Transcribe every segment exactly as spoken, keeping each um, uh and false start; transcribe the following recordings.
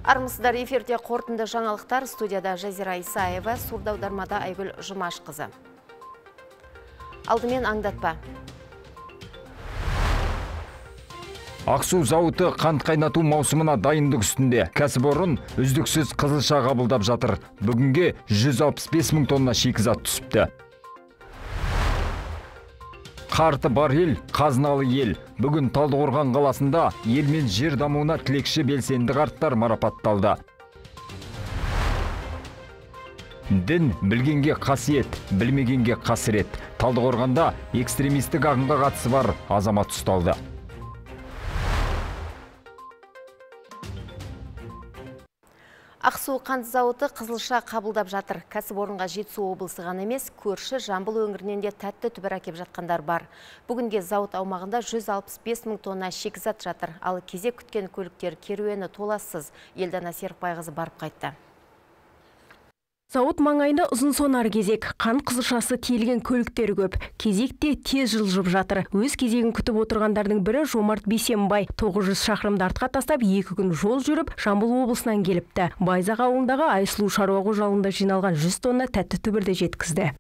Армысыздар, эфирде қорытынды жаңалықтар, студияда Жазира Исаева, сурдаудармада Айгүл Жұмашқызы. Алдымен аңдатпа. Ақсу зауыты қант қайнату маусымына дайындық үстінде. Кәсіпорын үздіксіз қызылша қабылдап жатыр. Бүгінге жүз алпыс бес мың тонна шикізат түсіпті. Қарты бар ел, қазыналы ел. Бүгін Талдықорған қаласында ел мен жер дамуына тілекші белсенді қарттар марапатталды. Дін білгенге қасиет, білмегенге қасірет. Талдықорғанда экстремистік ағымға қатысы бар азамат ұсталды. Ақсу қант зауыты қызылша қабылдап жатыр. Кәсіпорынға Жетісу облысы ғана емес, көрші Жамбыл өңірінен де тәтті түбір әкеп жатқандар бар. Бүгінге зауыт аумағында жүз алпыс бес мың тонна шикізат жатыр. Ал кезек күткен көліктер керуені толассыз. Елдана Серікбайқызы барып қайтты. Зауыт маңайында ұзын сонар кезек, қант қызылшасы тиелген көліктер көп. Кезекте тез жылжып жатыр. Өз кезегін күтіп отырғандардың бірі Жомарт Бейсенбай. тоғыз жүз шақырымды артқа тастап, екі күн жол жүріп, Жамбыл облысынан келіпті. Байзақ ауылындағы Айсұлу шаруа қожалығында жиналған жүз тонна тәтті түбірді жеткізді.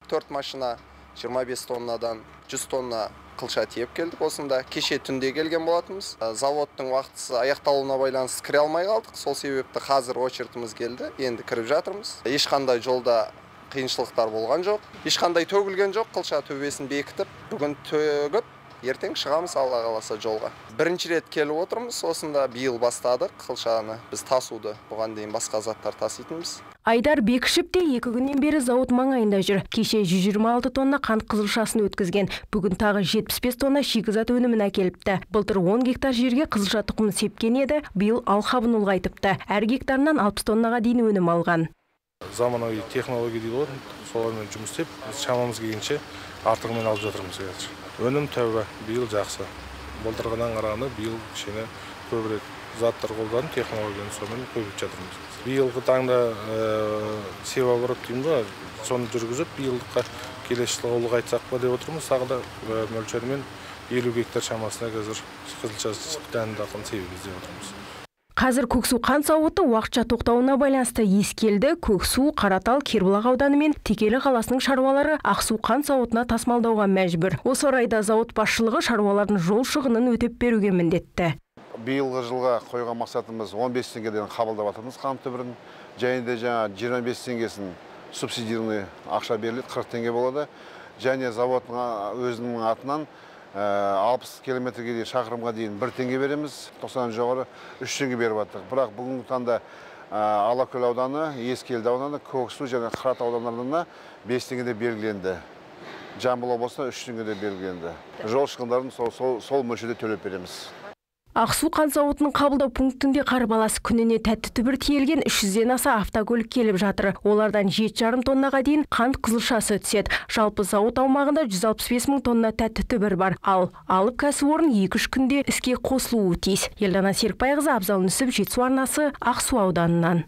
төрт машина жиырма бес тоннадан жүз тонна қылша тиеп келдік осында. Кеше түнде келген болатымыз. Заводтың уақытысы аяқталуына байланысты кіре алмай қалдық. Сол себепті қазір очеретіміз келді. Енді кіріп жатырмыз. Ешқандай жолда қиыншылықтар болған жоқ. Ешқандай төгілген жоқ. Қылша төбесін бекітіп, бүгін төгіп, ертең шығамыз Алла қаласа жолға. Бірінші рет келіп отырмыз. Осында биыл бастадық қылшаны. Біз тасуды, бұған дейін басқа заттар таситынбыз. Айдар Бекішіп те екі күннен бері зауыт маңайында жүр. Кеше жүз жиырма алты тонна қант қызылшасын өткізген. Бүгін тағы жетпіс бес тонна шикізат өнімін әкеліпті. Былтыр он гектар жерге қызылша тұқымын сепкен еді, биыл алқабын ұлғайтыпты. Әр гектарынан алпыс тоннаға дейін өнім алған. Заманауи технология дейді ғой, солармен жұмыс істеп, шамамыз келгенше артығымен алып жатырмыз қазір. Өнім тәуба, биыл жақсы. Былтырғыдан қарағанда биыл кішкене көбірек заттар қолданып, технологияны сонымен көбейіп жатырмыз. Биылғы таңда севооборот дейміз ғой, соны жүргізіп, биылдыққа келесі жылға ұлғайтсақ па деп отырмыз. Тағы да мөлшермен елу гектар шамасына қазір қызылша дәнді дақылын себеміз деп отырмыз. Қазір Көксу қант зауыты уақытша тоқтауына байланысты ескелді Көксу, Қаратал, Кербұлақ ауданы мен Текелі қаласының шаруалары Ақсу қант зауытына тасымалдауға мәжбүр. Осы орайда зауыт басшылығы шаруалардың жол шығынын өтеп беруге міндетті. Биылғы жылға қойған мақсатымыз он бес теңгеден қабылдап жатырмыз қант түбірін. Және де жаңа жиырма бес теңгесін субсидированный ақша беріледі, қырық теңге болады. Және заводтың өзінің атынан алпыс километрге дейін шақырымға дейін бір теңге береміз. тоқсаннан жоғары үш теңге беріп жатыр. Бірақ бүгінгі таңда Алакөл ауданы, Ескелді ауданы, Көксу және Қаратал аудандарына бес теңгеде белгіленді. Жамбыл облысына үш теңгеде белгіленді. Жол шығындарын сол, сол, сол мөлшерде төлеп береміз. Ақсу қант зауытының қабылдау пунктінде қарбаласы күніне тәтті түбір тиелген үш жүзден аса автокөлік келіп жатыр. Олардан жеті жарым тоннаға дейін қант қызылшасы түседі. Жалпы зауыт аумағында жүз алпыс бес мың тонна тәтті түбір бар. Ал алып кәсіпорын екі үш күнде іске қосылуы тиіс. Елдана Серікбайқызы, Абзал Нүсіп, Жетісу арнасы, Ақсу ауданынан.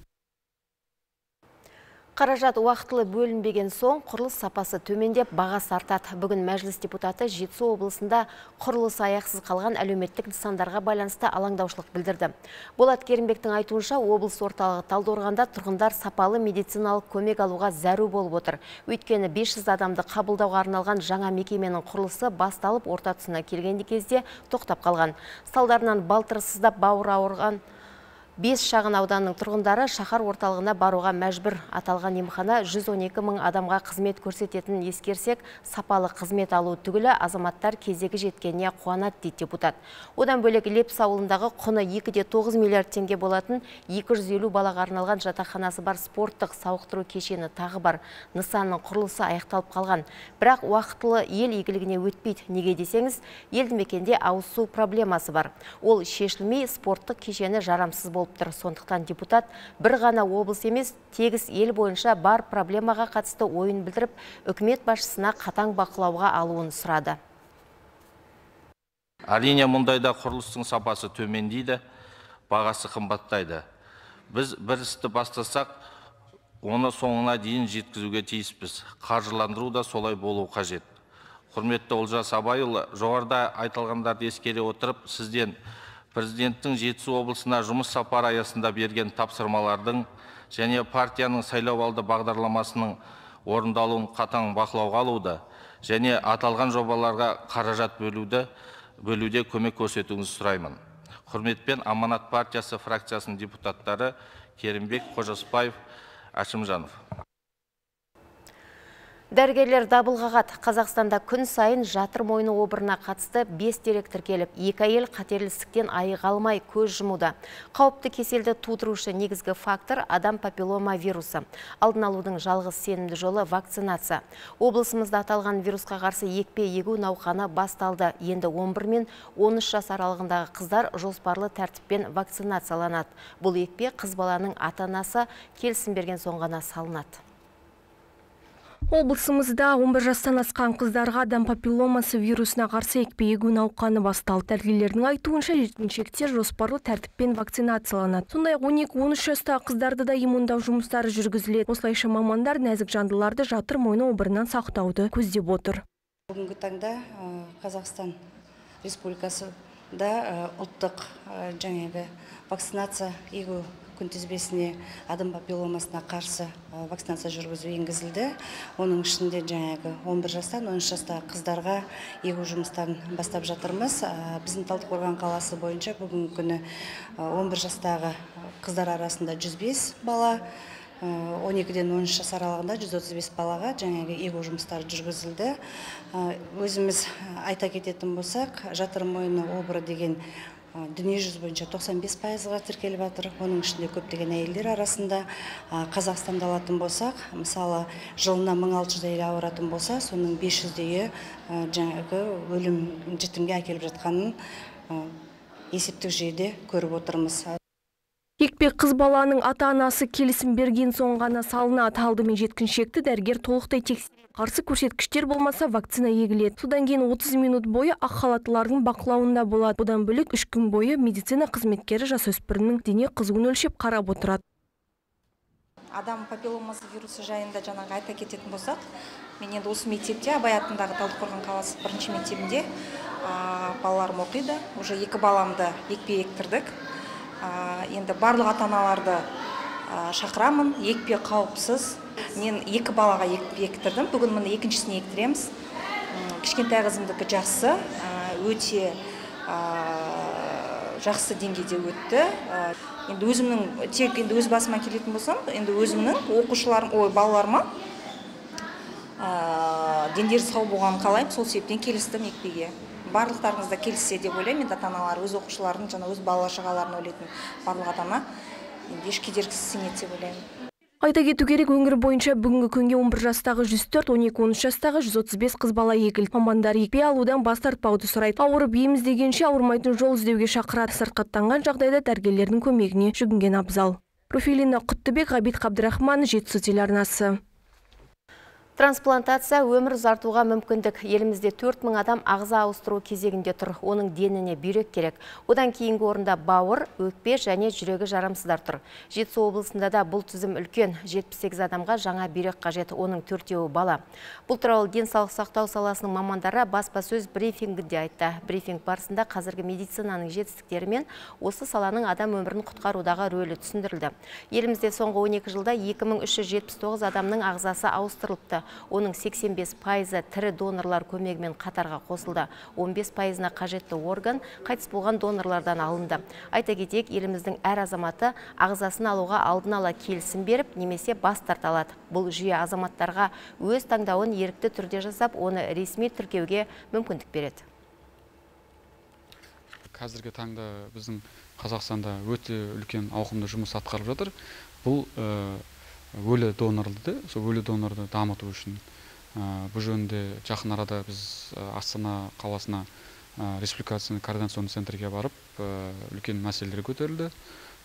Қаражат уақытылы бөлінбеген соң құрылыс сапасы төмендеп, бағасы артады. Бүгін мәжіліс депутаты Жетісу облысында құрылыс аяқсыз қалған әлеуметтік нысандарға байланысты алаңдаушылық білдірді. Болат Керімбектің айтуынша, облыс орталығы Талдықорғанда тұрғындар сапалы медициналық көмек алуға зәру болып отыр. Өйткені бес жүз адамды қабылдауға арналған жаңа мекеменің құрылысы басталып орта тұсына келген кезде тоқтап қалған. Салдарынан балтырсыздап бауыры ауырған бес шағын ауданның тұрғындары шаһар орталығына баруға мәжбүр. Аталған емхана жүз он екі мың адамға қызмет көрсететінін ескерсек, сапалы қызмет алу түгілі азаматтар кезегі жеткеніне қуанады дейді депутат. Одан бөлек Лепс ауылындағы құны екі де тоғыз миллиард теңге болатын екі жүз елу балаға арналған жатақханасы бар спорттық сауықтыру кешені тағы бар. Нысанның құрылысы аяқталып қалған. Бірақ уақытылы ел игілігіне өтпейді. Неге десеңіз, елді мекенде ауыз су проблемасы бар. Ол шешілмей, спорттық кешені жарамсыз болып тұр. Сондықтан депутат бір ғана облыс емес, тегіс ел бойынша бар проблемаға қатысты ойын білдіріп, үкімет басшысына қатаң бақылауға алуын сұрады. Әрине, мұндайда құрылыстың сапасы төмендейді, бағасы қымбаттайды. Біз бір істі бастасақ, оны соңына дейін жеткізуге тиіспіз. Қаржыландыру да солай болу қажет. Құрметті Олжас Абайұлы, жоғарыда айтылғандарды ескере отырып, сізден президенттің Жетісу облысына жұмыс сапары аясында берген тапсырмалардың және партияның сайлауалды бағдарламасының орындалуын қатаң бақылауға алуды және аталған жобаларға қаражат бөлуді бөлуде көмек көрсетуіңізді сұраймын. Құрметпен Аманат партиясы фракциясының депутаттары Керімбек Қожасбаев, Әшімжанов. Дәрігерлер дабыл қағады. Қазақстанда күн сайын жатыр мойны обырына қатысты бес дерек тіркеліп, екі әйел қатерлістіктен айыға алмай көз жұмуда. Қауіпті кеселді тудырушы негізгі фактор адам папиллома вирусы. Алдын алудың жалғыз сенімді жолы вакцинация. Облысымызда аталған вирусқа қарсы екпе егу науқаны басталды. Енді он бір мен он үш жас аралығындағы қыздар жоспарлы тәртіппен вакцинацияланады. Бұл екпе қыз баланың ата-анасы келісім берген соң ғана салынады. Облысымызда он бір жастан асқан қыздарға адам папилломасы вирусына қарсы екпе егу науқаны басталды. Дәрігерлердің айтуынша жеткіншектер жоспарлы тәртіппен вакцинацияланады. Сондай-ақ он екі он үш жастағы қыздарды да иммундау жұмыстары жүргізіледі. Осылайша мамандар нәзік жандыларды жатыр мойны обырынан сақтауды көздеп отыр. Бүгінгі таңда Қазақстан Республикасында ұлттық жаңағы вакцинация егу күнтізбесіне адам папилломасына қарсы вакцинация жүргізу енгізілді. Оның ішінде жаңағы он бір жастан он үш жастағы қыздарға егу жұмыстарын бастап жатырмыз. Біздің Талдықорған қаласы бойынша бүгінгі күні он бір жастағы қыздар арасында жүз бес бала, он екіден он үш жас аралығында жүз отыз бес балаға жаңағы егу жұмыстары жүргізілді. Өзіміз айта кететін болсақ, жатыр мойны обыры деген дүние жүзі бойынша тоқсан бес пайызға тіркеліп жатыр. Оның ішінде көптеген әйелдер арасында. Қазақстанда алатын болсақ, мысалы жылына мың алты жүз әйел ауыратын болса, соның бес жүздейі жаңағы өлім жітімге әкеліп жатқанын есептік жүйеде көріп отырмыз. Екпе қыз баланың ата-анасы келісім берген соң ғана салынады. Алдымен жеткіншекті дәрігер толықтай тексереді. Қарсы көрсеткіштер болмаса вакцина егіледі. Содан кейін отыз минут бойы ақ халаттылардың бақылауында болады. Бұдан бөлек үш күн бойы медицина қызметкері жасөспірімнің дене қызуын өлшеп қарап отырады. Адам папилломасы вирусы жайында жаңағы айта кететін болсақ, мен енді осы мектепте, Абай атындағы Талдықорған қаласы бірінші мектебінде балаларым оқиды. Уже екі баламды екпе ектірдік. Енді барлық ата-аналарды шақырамын, екпе қауіпсіз. Мен екі балаға екпе ектірдім. Бүгін міне екіншісіне ектіреміз. Кішкентай қызымдікі жақсы, өте жақсы деңгейде өтті. Енді өзімнің, тек енді өз басыма келетін болсам, енді өзімнің оқушыларым, ой, балаларыма дендері сау болғанын қалаймын, сол себептен келістім екпеге. Барлықтарыңызда келіссе деп ойлаймын, енді ата-аналар өз оқушыларын, жаңа өз бала-шағаларын ойлайтын барлық ата-ана еш кедергісіз сенеді деп ойлаймын. Айта кету керек, өңір бойынша бүгінгі күнге он бір жастағы жүз төрт, он екі он үш жастағы жүз отыз бес қыз бала егілді. Мамандар екпе алудан бас тартпауды сұрайды. Ауырып ем іздегенше ауырмайтын жол іздеуге шақырады. Сырқаттанған жағдайда дәрігерлердің көмегіне жүгінген абзал. Руфилина Құттыбек, Ғабит Қабдырахман, Жетісу телеарнасы. Трансплантация өмір ұзартуға мүмкіндік. Елімізде төрт мың адам ағза ауыстыру кезегінде тұр. Оның деніне бүйрек керек. Одан кейінгі орында бауыр, өкпе және жүрегі жарамсыздар тұр. Жетісу облысында да бұл тізім үлкен. жетпіс сегіз адамға жаңа бүйрек қажет, оның төртеуі бала. Бұл туралы денсаулық сақтау саласының мамандары баспасөз брифингінде айтты. Брифинг барысында қазіргі медицинаның жетістіктері мен осы саланың адам өмірін құтқарудағы рөлі түсіндірілді. Елімізде соңғы он екі жылда екі мың үш жүз жетпіс тоғыз адамның ағзасы ауыстырылыпты. Оның сексен бес пайызы тірі донорлар көмегімен қатарға қосылды. он бес пайызына қажетті орган қайтыс болған донорлардан алынды. Айта кетейік, еліміздің әр азаматы ағзасын алуға алдын ала келісім беріп, немесе бас тарта алады. Бұл жүйе азаматтарға өз таңдауын ерікті түрде жасап, оны ресми тіркеуге мүмкіндік береді. Қазіргі таңда біздің Қазақстанда өте үлкен ауқымды жұмыс атқарылып жатыр. Бұл өлі донорларды, сол өлі донорды дамыту үшін бұл жөнінде жақын арада біз Астана қаласына республикационный координационный центрге барып үлкен мәселелер көтерілді.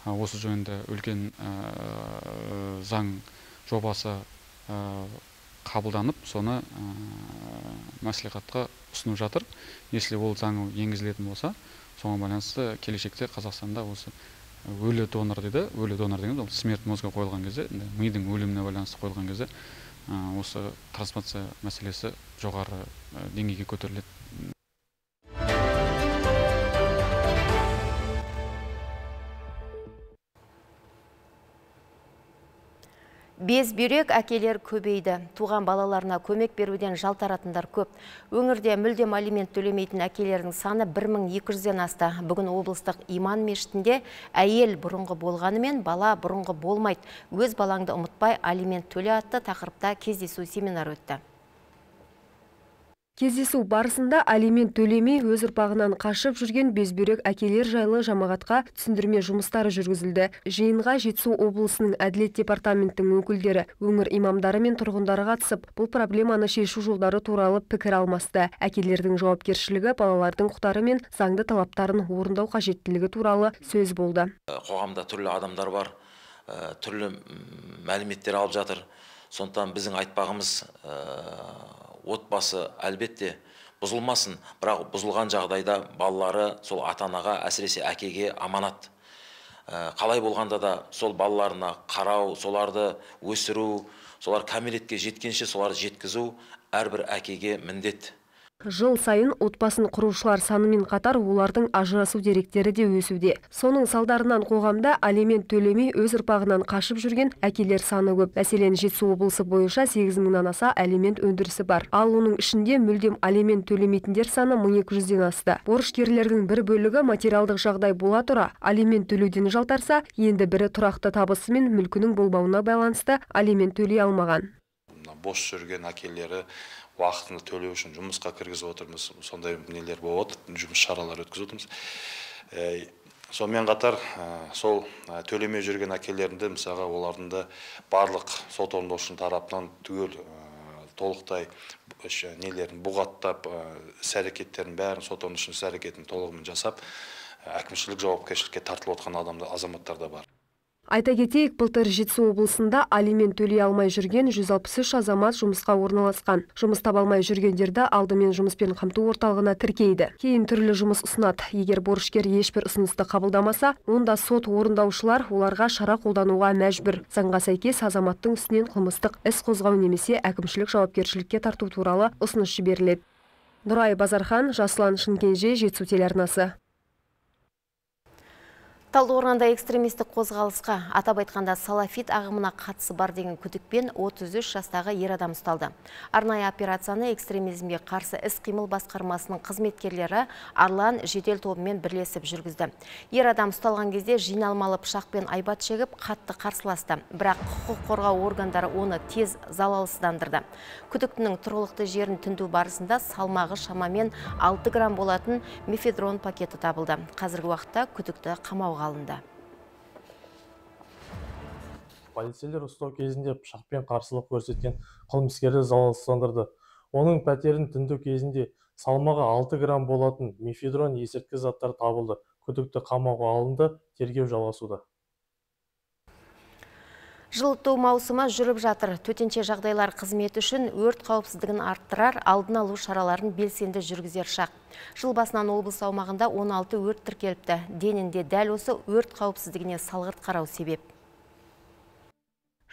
Осы жөнінде үлкен заң жобасы қабылданып, соны мәслихатқа ұсынып жатыр. Если ол заң енгізілетін болса, соған байланысты келешекте Қазақстанда осы өлі донор дейді, өлі донор деген ол смерть мозга қойылған кезде, мидың өліміне байланысты қойылған кезде, осы трансплантация мәселесі жоғары деңгейге көтеріледі. Безбүйрек әкелер көбейді. Туған балаларына көмек беруден жалтаратындар көп. Өңірде мүлдем алимент төлемейтін әкелердің саны бір мың екі жүзден асты. Бүгін облыстық иман мешітінде әйел бұрынғы болғанымен бала бұрынғы болмайды. Өз балаңды ұмытпай алимент төле атты тақырыпта кездесу семинар өтті. Кездесу барысында алимент төлемей өз ұрпағынан қашып жүрген безбүйрек әкелер жайлы жамағатқа түсіндірме жұмыстары жүргізілді. Жиынға Жетісу облысының әділет департаментінің өкілдері, өңір имамдары мен тұрғындары қатысып, бұл проблеманы шешу жолдары туралы пікір алмасты. Әкелердің жауапкершілігі, балалардың құқықтары мен заңды талаптарын орындау қажеттілігі туралы сөз болды. Қоғамда түрлі адамдар бар, түрлі мәліметтер алып жатыр. Сондықтан біздің айтпағымыз отбасы әлбетте бұзылмасын, бірақ бұзылған жағдайда балалары сол ата-анаға, әсіресе әкеге аманат. Қалай болғанда да сол балаларына қарау, соларды өсіру, солар кәмелетке жеткенше соларды жеткізу әрбір әкеге міндет. Жыл сайын отбасын құрушылар санымен қатар олардың ажырасу деректері де өсуде. Соның салдарынан қоғамда алимент төлемей өз ұрпағынан қашып жүрген әкелер саны көп. Мәселен, Жетісу облысы бойынша сегіз мыңнан аса алимент өндірісі бар. Ал оның ішінде мүлдем алимент төлемейтіндер саны мың екі жүзден асты. Борышкерлердің бір бөлігі материалдық жағдай бола тұра алимент төлеуден жалтарса, енді бірі тұрақты табысы мен мүлкінің болмауына байланысты алимент төлей алмаған. Бос жүрген әкелері уақытында төлеу үшін жұмысқа кіргізіп отырмыз. Сондай нелер болып отыр, жұмыс шаралар өткізіп отырмыз. Сонымен қатар сол төлемей жүрген әкелерінде мысалға олардың да барлық сот орындаушының тарапынан түгел толықтай нелерін бұғаттап, іс-әрекеттерін бәрін сот орындаушының іс-әрекетін толығымен жасап, әкімшілік жауапкершілікке тартылып отқан адамда азаматтар да бар. Айта кетейік, былтыр Жетісу облысында алимент төлей алмай жүрген жүз алпыс үш азамат жұмысқа орналасқан. Жұмыс таба алмай жүргендерді алдымен жұмыспен қамту орталығына тіркейді. Кейін түрлі жұмыс ұсынады. Егер борышкер ешбір ұсынысты қабылдамаса, онда сот орындаушылар оларға шара қолдануға мәжбүр. Заңға сәйкес азаматтың үстінен қылмыстық іс қозғау немесе әкімшілік жауапкершілікке тарту туралы ұсыныс жіберіледі. Нұрай Базархан, Жасұлан Шынкенже, Жетісу телеарнасы. Талдықорғанда экстремистік қозғалысқа, атап айтқанда салафит ағымына қатысы бар деген күдікпен отыз үш жастағы ер адам ұсталды. Арнайы операцияны экстремизмге қарсы іс-қимыл басқармасының қызметкерлері Арлан жедел тобымен бірлесіп жүргізді. Ер адам ұсталған кезде жиналмалы пышақпен айбат шегіп, қатты қарсыласты. Бірақ құқық қорғау органдары оны тез залалсыздандырды. Күдіктінің тұрғылықты жерін тінту барысында салмағы шамамен алты грамм болатын мефедрон пакеті табылды. Қазіргі уақытта күдікті қамауға алынды. Полицейлер ұстау кезінде пышақпен қарсылық көрсеткен қылмыскерді залалсыздандырды. Оның пәтерін тінту кезінде салмағы алты грамм болатын мефедрон есірткі заттар табылды. Күдікті қамауға алынды, тергеу жалғасуда. Жылыту маусымы жүріп жатыр. Төтенше жағдайлар қызметі үшін өрт қауіпсіздігін арттырар, алдын алу шараларын белсенді жүргізер шақ. Жыл басынан облыс аумағында он алты өрт тіркеліпті. Денінде дәл осы өрт қауіпсіздігіне салғырт қарау себеп.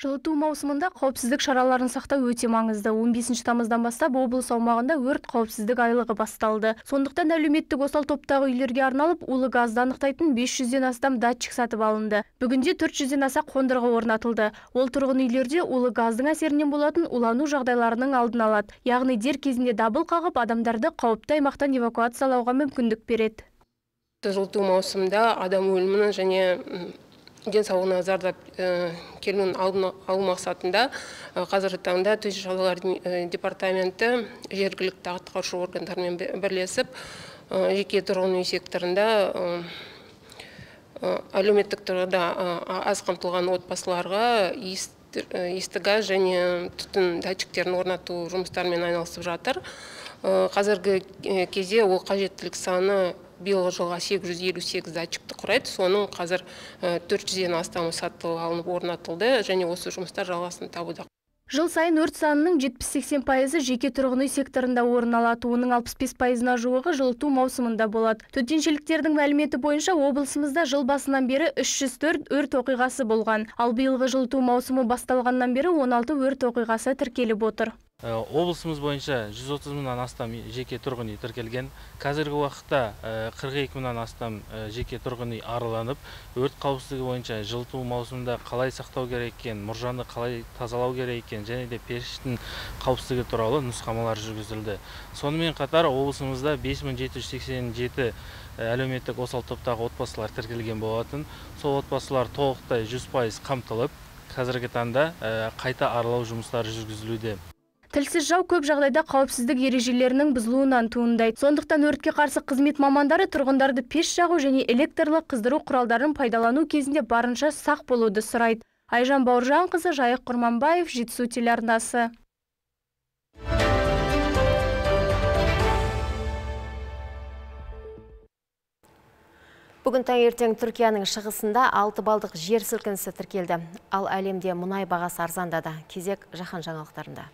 Жылыту маусымында қауіпсіздік шараларын сақтау өте маңызды. он бесінші тамыздан бастап облыс аумағында өрт қауіпсіздік айлығы басталды. Сондықтан әлеуметтік осал топтағы үйлерге арналып, улы газды анықтайтын бес жүзден астам датчик сатып алынды. Бүгінде төрт жүзден аса қондырғы орнатылды. Ол тұрғын үйлерде улы газдың әсерінен болатын улану жағдайларының алдын алады. Яғни дер кезінде дабыл қағып, адамдарды қауіпті аймақтан эвакуациялауға мүмкіндік береді. Жылыту маусымында адам өлімінің және денсаулығына зардап келуін алдын алу мақсатында қазіргі таңда төтенше жағдайлар департаменті жергілікті атқарушы органдармен бірлесіп жеке тұрғын үй секторында әлеуметтік тұрғыда аз қамтылған отбасыларға иісті газ және түтін датчиктерін орнату жұмыстарымен айналысып жатыр. Қазіргі кезде ол қажеттілік саны биылғы жылға сегіз жүз елу сегіз датчикті құрайды. Соның қазір төрт жүзден астамы сатылып алынып орнатылды және осы жұмыстар жалғасын табуда. Жыл сайын өрт санының жетпіс сексен пайызы жеке тұрғын үй секторында орын алады. Оның алпыс бес пайызына жуығы жылыту маусымында болады. Төтеншеліктердің мәліметі бойынша облысымызда жыл басынан бері үш жүз төрт өрт оқиғасы болған. Ал биылғы жылыту маусымы басталғаннан бері он алты өрт оқиғасы тіркеліп отыр. Облысымыз бойынша жүз отыз мыңнан астам жеке тұрғын үй тіркелген. Қазіргі уақытта қырық екі мыңнан астам жеке тұрғын үй араланып, өрт қауіпсіздігі бойынша жылыту маусымында қалай сақтау керек екен, мұржаны қалай тазалау керек екен, және де пештің қауіпсіздігі туралы нұсқамалар жүргізілді. Сонымен қатар облысымызда бес мың жеті жүз сексен жеті әлеуметтік осал топтағы отбасылар тіркелген болатын. Сол отбасылар толықтай жүз пайыз қамтылып, қазіргі таңда қайта аралау жұмыстары жүргізілуде. Тілсіз жау көп жағдайда қауіпсіздік ережелерінің бұзылуынан туындайды. Сондықтан өртке қарсы қызмет мамандары тұрғындарды пеш жағу және электрлі қыздыру құралдарын пайдалану кезінде барынша сақ болуды сұрайды. Айжан Бауыржанқызы, Жайық Құрманбаев, Жетісу телеарнасы. Бүгін таңертең Түркияның шығысында алты балдық жер сілкінісі тіркелді. Ал әлемде мұнай бағасы арзандады. Кезек жаһан жаңалықтарында.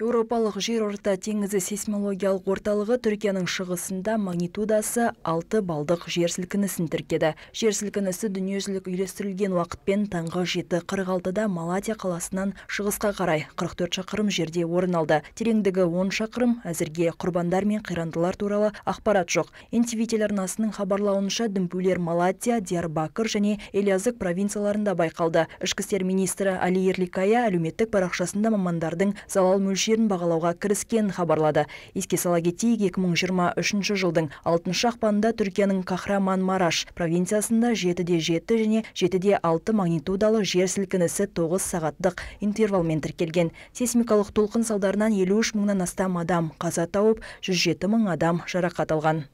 Еуропалық жерорта теңізі сейсмологиялық орталығы Түркияның шығысында магнитудасы алты балдық жер сілкінісін тіркеді. Жер сілкінісі дүниежүзілік үйлестірілген уақытпен таңғы жеті қырық алтыда Малатия қаласынан шығысқа қарай қырық төрт шақырым жерде орын алды. Тереңдігі он шақырым, әзірге құрбандар мен қирандылар туралы ақпарат жоқ. эн тэ вэ телеарнасының хабарлауынша дүмпулер Малатия, Диярбакыр және Элязыг провинцияларында байқалды. Ішкі істер министрі Али Ерликая әлеуметтік парақшасында мамандардың залал мөлшерін бағалауға кіріскен хабарлады. Еске сала кетейік, екі мың жиырма үшінші жылдың алтыншы ақпанында Түркияның Кахраман-Мараш провинциясында жеті де жеті және жеті де алты магнитудалы жер сілкінісі тоғыз сағаттық интервалмен тіркелген. Сейсмикалық толқын салдарынан елу үш мыңнан астам адам қаза тауып, жүз жеті мың адам жарақат алған.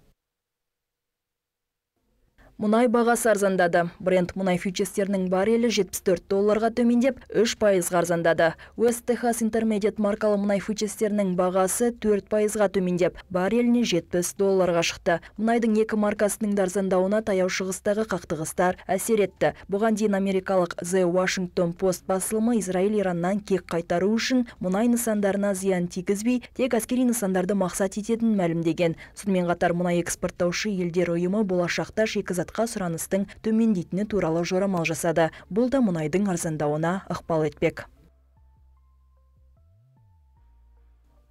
Мұнай бағасы арзандады. Брент мұнай фьючерстерінің баррелі жетпіс төрт долларға төмендеп, үш пайызға арзандады. West Texas Intermediate маркалы мұнай фьючерстерінің бағасы төрт пайызға төмендеп, барреліне жетпіс долларға шықты. Мұнайдың екі маркасының да арзандауына таяу шығыстағы қақтығыстар әсер етті. Бұған дейін америкалық The Washington Post басылымы Израиль Ираннан кек қайтару үшін мұнай нысандарына зиян тигізбей, тек әскери нысандарды мақсат ететінін мәлімдеген. Сонымен қатар мұнай экспорттаушы елдер ұйымы болашақта шикізат сұраныстың төмендейтіні туралы жорамал жасады. Бұл да мұнайдың арзандауына ықпал етпек.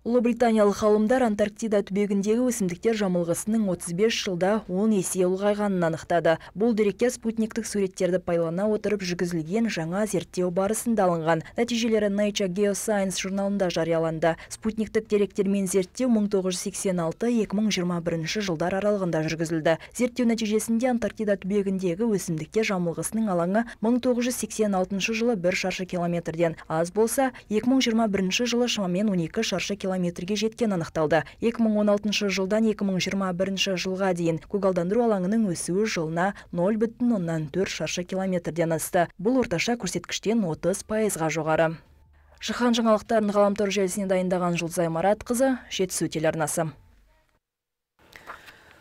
Ұлыбританиялық ғалымдар Антарктида түбегіндегі өсімдіктер жамылғысының отыз бес жылда он есе ұлғайғанын анықтады. Бұл дерекке спутниктік суреттерді пайдалана отырып жүргізілген жаңа зерттеу барысында алынған. Нәтижелері Nature Geoscience журналында жарияланды. Спутниктік деректермен зерттеу мың тоғыз жүз сексен алты - екі мың жиырма бірінші жылдар аралығында жүргізілді. Зерттеу нәтижесінде Антарктида түбегіндегі өсімдіктер жамылғысының алаңы мың тоғыз жүз сексен алтыншы жылы бір шаршы километрден аз болса, екі мың жиырма бірінші жылы шамамен он екі шаршы километр метрге жеткен анықталды. екі мың он алтыншы жылдан екі мың жиырма бірінші жылға дейін көгалдандыру алаңының өсуі жылына нөл бүтін оннан төрт шаршы километрден асты. Бұл орташа көрсеткіштен отыз пайызға жоғары. Жаһан жаңалықтарын ғаламтор желісіне дайындаған Жұлдызай Маратқызы, Жетісу телеарнасы.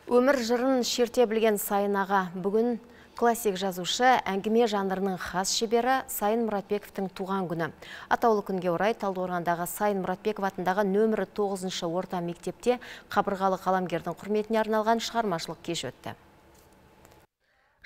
Өмір жырын шерте білген Сайын аға бүгін классик жазушы, әңгіме жанрының хас шебері Сайын Мұратбековтың туған күні. Атаулы күнге орай Талдықорғандағы Сайын Мұратбеков атындағы нөмірі тоғызыншы орта мектепте қабырғалы қаламгердің құрметіне арналған шығармашылық кеш өтті.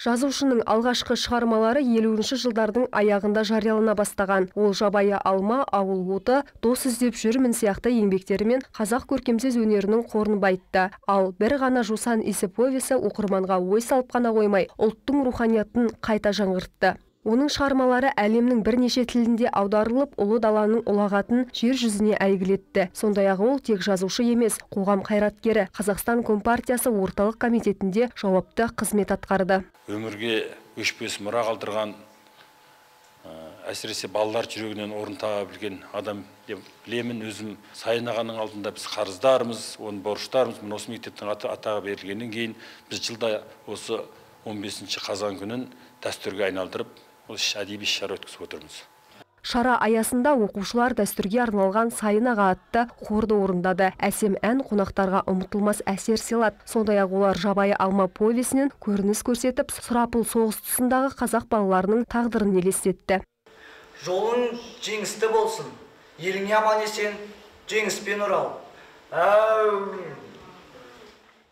Жазушының алғашқы шығармалары елуінші жылдардың аяғында жариялана бастаған. Ол Жабайы алма, Ауыл оты, Дос іздеп жүрмін сияқты еңбектерімен қазақ көркемсөз өнерінің қорын байытты. Ал бір ғана жусан иісі повесі оқырманға ой салып қана қоймай, ұлттың руханиятын қайта жаңғыртты. Оның шығармалары әлемнің бірнеше тілінде аударылып, ұлы даланың ұлағатын жер жүзіне әйгілетті. Сондай-ақ ол тек жазушы емес, қоғам қайраткері, Қазақстан Компартиясы орталық комитетінде жауапты қызмет атқарды. Өмірге өшпес мұра қалдырған, әсіресе балалар жүрегінен орын таба білген адам деп білемін. Өзім Сайын ағаның алдында біз қарыздармыз, оның борыштарымыз, осы мектептің атағы берілгеннен кейін біз жылда осы он бесінші қазан күнін дәстүрге айналдырып, осы әдеби шара өткізіп отырмыз. Шара аясында оқушылар дәстүрге арналған Сайын аға атты хорды орындады. Әсем ән қонақтарға ұмытылмас әсер сыйлады. Сондай-ақ олар Жабайы алма повесінен көрініс көрсетіп, сұрапыл соғыс тұсындағы қазақ балаларының тағдырын елестетті. Жолың жеңісті болсын, еліңе аман есен жеңіспен орал. Әу!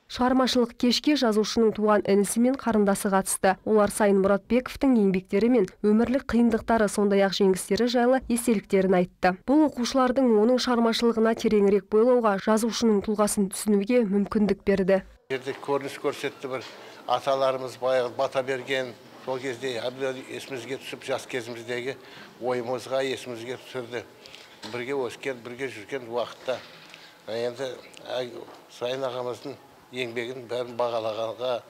Шығармашылық кешке жазушының туған інісі мен қарындасы қатысты. Олар Сайын Мұратбековтің еңбектері мен өмірлік қиындықтары, сондай-ақ жеңістері жайлы естеліктерін айтты. Бұл оқушылардың оның шығармашылығына тереңірек бойлауға, жазушының тұлғасын түсінуге мүмкіндік берді. Жерде көрініс көрсетті, бір аталарымыз баяғы бата берген, сол кезде есімізге түсіп, жас кезіміздегі ойымызға есімізге түсірді. Бірге өскен, бірге жүрген уақытта. Енді Сайын ағамыздың еңбегін бәрін бағалағанға,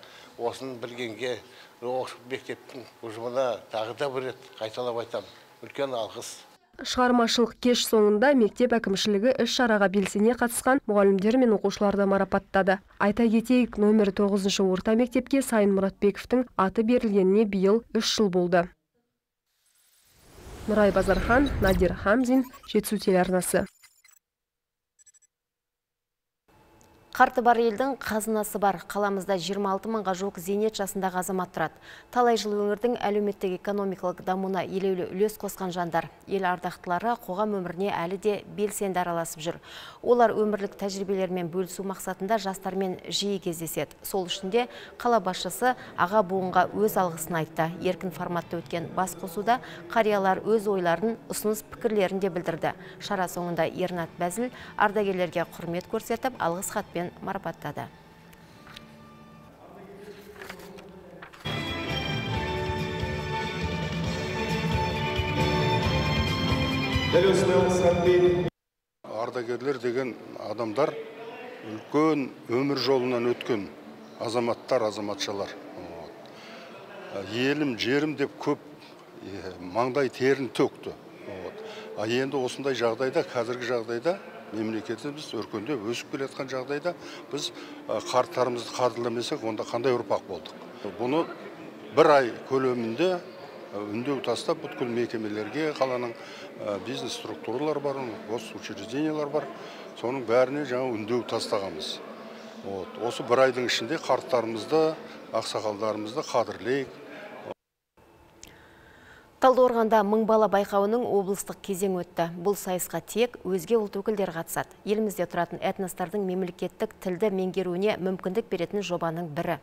осын білгенге, мектептің ұжымына тағы да бір рет қайталап айтамын. Үлкен алғыс. Шығармашылық кеш соңында мектеп әкімшілігі іс-шараға белсене қатысқан мұғалімдер мен оқушыларды марапаттады. Айта кетейік, номер тоғызыншы орта мектепке Сайын Мұратбековтің аты берілгеніне биыл үш жыл болды. Нұрай Базархан, Надир Хамзин, Жетісу телеарнасы. Қарты бар елдің қазынасы бар. Қаламызда жиырма алты мыңға жуық зейнет жасындағы азамат тұрады. Талай жыл өңірдің әлеуметтік экономикалық дамуына елеулі үлес қосқан жандар. Ел ардақтылары қоғам өміріне әлі де белсенді араласып жүр. Олар өмірлік тәжірибелермен бөлісу мақсатында жастармен жиі кездеседі. Сол үшін де қала басшысы аға буынға өз алғысын айтты. Еркін форматта өткен басқосуда қариялар өз ойларын, ұсыныс пікірлерін де білдірді. Шара соңында Ернат Бәзіл ардагерлерге құрмет көрсетіп, алғыс хатпен марапаттады. Ардагерлер деген адамдар үлкен өмір жолынан өткен азаматтар, азаматшалар. Елім, жерім деп көп маңдай терін төкті. А енді осындай жағдайда, қазіргі жағдайда мемлекетіміз өркендеп өсіп келе жатқан жағдайда біз қарттарымызды қадірламасақ, онда қандай ұрпақ болдық. Бұны бір ай көлемінде үндеу тастап, бүткіл мекемелерге, қаланың бизнес структуралар бар, госучреждениялар бар, соның бәріне жаңа үндеу тастағанбыз. Осы бір айдың ішінде қарттарымызды, ақсақалдарымызды қадірлейік. Талдықорғанда мың бала байқауының облыстық кезең өтті. Бұл сайысқа тек өзге ұлт өкілдері қатысады. Елімізде тұратын этностардың мемлекеттік тілді меңгеруіне мүмкіндік беретін жобаның бірі.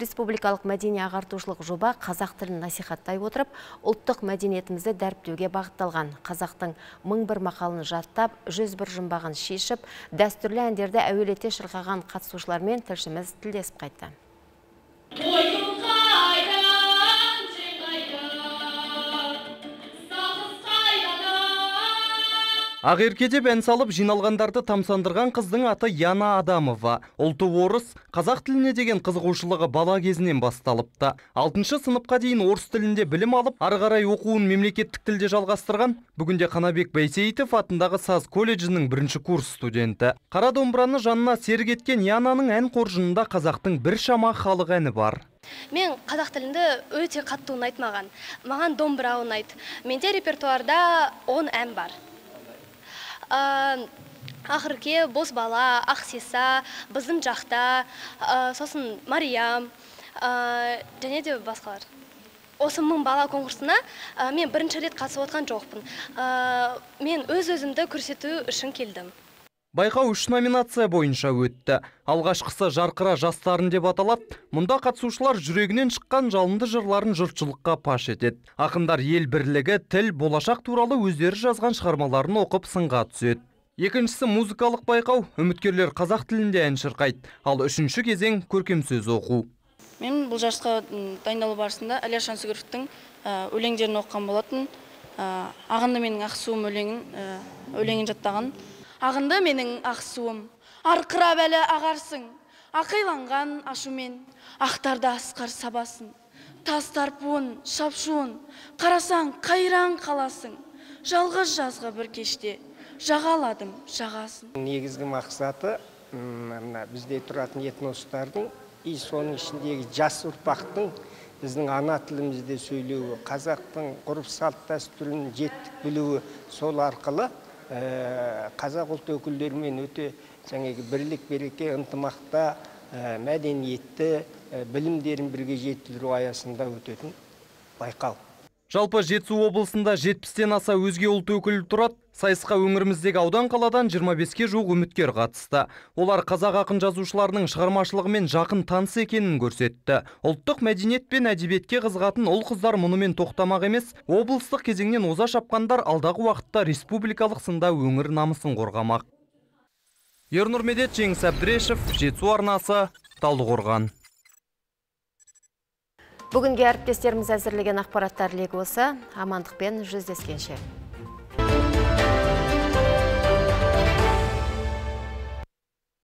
Республикалық мәдени ағартушылық жоба қазақ тілін насихаттай отырып, ұлттық мәдениетімізді дәріптеуге бағытталған. Қазақтың мың бір мақалын жаттап, жүз бір жұмбағын шешіп, дәстүрлі әндерді әуелете шырқаған қатысушылармен тілшіміз тілдесіп қайтты. Ақеркеде ән салып жиналғандарды тамсандырған қыздың аты Яна Адамова. Ұлты орыс, қазақ тіліне деген қызығушылығы бала кезінен басталыпты. алтыншы сыныпқа дейін орыс тілінде білім алып, ары қарай оқуын мемлекеттік тілде жалғастырған. Бүгінде Қанабек Байсейітов атындағы Саз колледжінің бірінші курс студенті. Қара домбыраны жанына серік еткен Янаның ән қоржынында қазақтың біршама халық әні бар. Мен қазақ тілінде өте қатты ұнайды маған. Маған домбыра ұнайды. Менде репертуарда он ән бар. Ақырке, Бозбала, Ақсеса, біздің жақта, сосын Мариям, және де басқалар. Осы мың бала конкурсына мен бірінші рет қатысып отқан жоқпын. Мен өз-өзімді көрсету үшін келдім. Байқау үш номинация бойынша өтті. Алғашқысы жарқыра жастарын деп аталады. Мұнда қатысушылар жүрегінен шыққан жалынды жырларын жұртшылыққа паш етеді. Ақындар ел бірлігі, тіл, болашақ туралы өздері жазған шығармаларын оқып сынға түседі. Екіншісі музыкалық байқау. Үміткерлер қазақ тілінде ән шырқайды. Ал үшінші кезең көркем сөз оқу. Мен бұл жарысқа дайындалу барысында Әлия Шансүгіровтің өлеңдерін оқыған болатын. Ағынды менің ақсуым өлеңін жаттаған. Ағынды менің ақсуым, арқырап әлі ағарсың, ақиланған ашумен, ақтарда асқар сабасын, тас тарпуын, шапшуын, қарасаң қайран қаласың, жалғыз жазғы бір кеште, жағаладым жағасын. Негізгі мақсаты бізде тұратын этностардың, и соның ішіндегі жас ұрпақтың біздің ана тілімізде сөйлеуі, қазақтың ғұрып салт дәстүрін жетік білуі, сол арқылы қазақ ұлт өкілдерімен өте жаңағы бірлік береке ынтымақта мәдениетті білімдерін бірге жетілдіру аясында өтетін байқау. Жалпы Жетісу облысында жетпістен аса өзге ұлт өкілі тұрады. Сайысқа өңіріміздегі аудан қаладан жиырма беске жуық үміткер қатысты. Олар қазақ ақын жазушыларының шығармашылығымен жақын таныс екенін көрсетті. Ұлттық мәдениет пен әдебиетке қызығатын ұл қыздар мұнымен тоқтамақ емес, облыстық кезеңнен оза шапқандар алдағы уақытта республикалық сында өңір намысын қорғамақ. Ернұр Медет, Жеңіс Әбдірешев, Жетісу арнасы, Талдықорған. Бүгінге әріптестеріміз әзірлеген ақпараттар легі осы. Амандықпен жүздескенше.